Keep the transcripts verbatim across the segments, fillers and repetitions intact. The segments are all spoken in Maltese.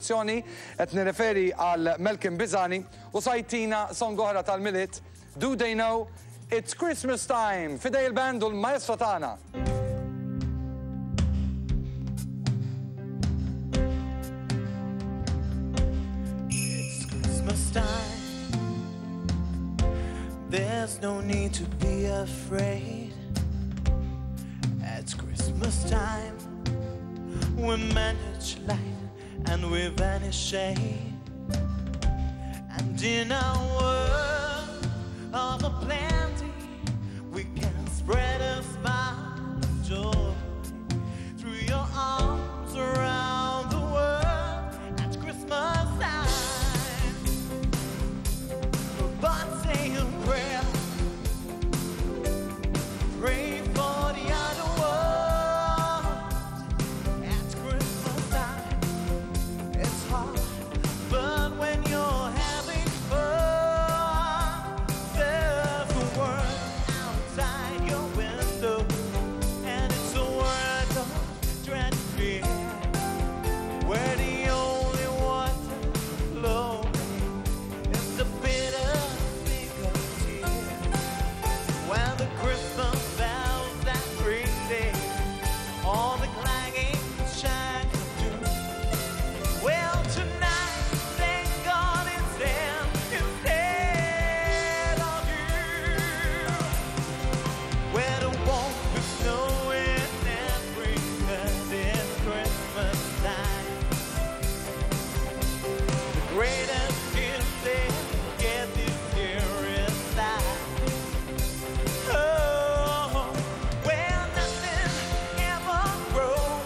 il-produzzjoni, qed nirreferi għal Malcolm Bizani u sa jtina song oħra tal-Milied. Do They Know It's Christmas Time? F'idejn il-band u l-maestro tagħna. It's Christmas time. There's no need to be afraid. It's Christmas time. We manage light and we vanish shade. And in our world of a plenty, we can spread a smile of joy through your arms around the world at Christmas time. But say a prayer, pray for the other world at Christmas time. It's hard, but when you're having fun, there's a world outside your window, and it's a world of dread and fear, where the only water flowing is the bitter sting of tears. When the Christmas bells that ring, they all the clanging chimes of doom. Well, tonight, thank God it's them instead of you. Where the won't be snowing every 'cause it's Christmas time. The greatest gift they get this year is life. Oh, where nothing ever grows,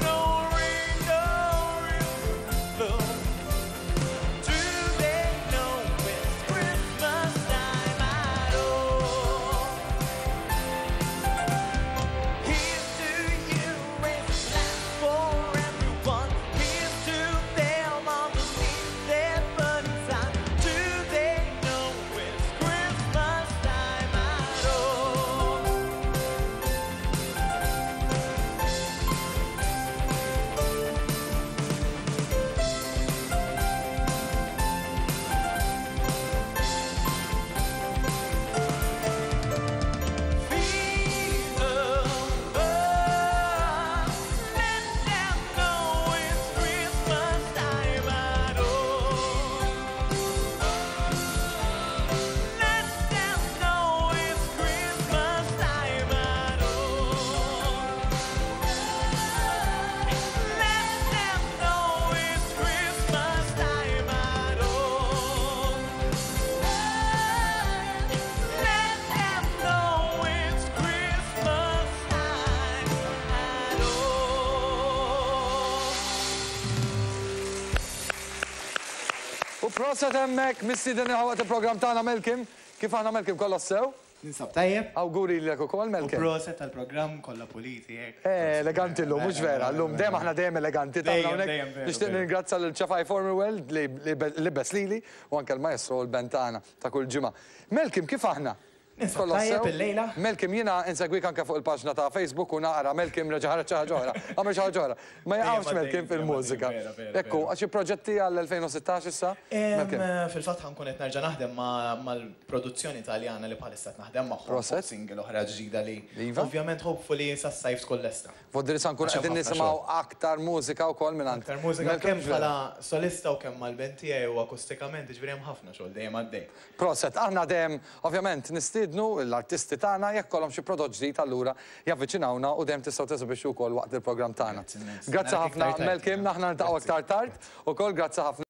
no rain, no river flow. Do they know it's Christmas time at all? Here's to you, raise a glass for everyone. Here's to them all the needs their burning time. Do they know it's Christmas time at all? Feed the birds, let them know it's Christmas time at all. Let them know it's Christmas time at all. Let them know it's Christmas time at all. Let them know it's Christmas time at all. U proset hemmhekk mistieden waqt il-programm tagħna Malcolm. Kif aħna Malcolm kollox sew? Ninsab tajjeb. Awguri lilek ukoll U Malcolm. proset tal-programm kollha puliti hekk. Eh, eleganti llum, mhux vera, llum dejjem aħna dejjem eleganti. Tagħna Dejjem, hawnhekk. dejjem, veru, Nixtieq veru. ningrazzja lil Ċafaj Formwell li li libes lili u anke l-maestro u l-band tagħna ta' kull ġimgħa. Malcolm, kif aħna? Ninsab Kollox tajjeb sew? illejla. Malcolm, jiena insegwik anke fuq il-paġna ta' Facebook u naqra Malcolm reġa' ħareġ xi ħaġa oħra. Għamel xi ħaġa oħra. Ma jaqgħux Dejjem Malcolm għaddej, fil-mużika. dejjem għaddej, vera, vera, Ekku, vera. għax xi proġetti għall-elfejn u sittax issa? Em, Malcolm. Fil-fatt ħa nkun qed nerġa' naħdem ma- mal-produzzjoni Taljana li bħalissa qed naħdem magħhom. Proset. Fuq single oħra ġdida li Iva. ovvjament hopefully sas-sajf tkun lesta. Voldiri sa nkun Għax hemm qegħdin ħafna nisimgħu aktar mużika wkoll minn Aktar mużika Malcolm, kemm mhux vera? bħala solista u kemm mal-band tiegħi u akustikament, ġifieri hemm ħafna xogħol dejjem għaddej. Proset, aħna dejjem ovvjament nistiednu l-artisti tagħna jekk kollhom xi prodott ġdid allura javviċinawna u dejjem tistgħu tesibixxu wkoll waqt il-programm tagħna. Grazzi immens. Grazzi Narak ħafna iktar tard. Malcolm, aħna niltaqgħu Grazzi. aktar tard ukoll grazzi ħafna.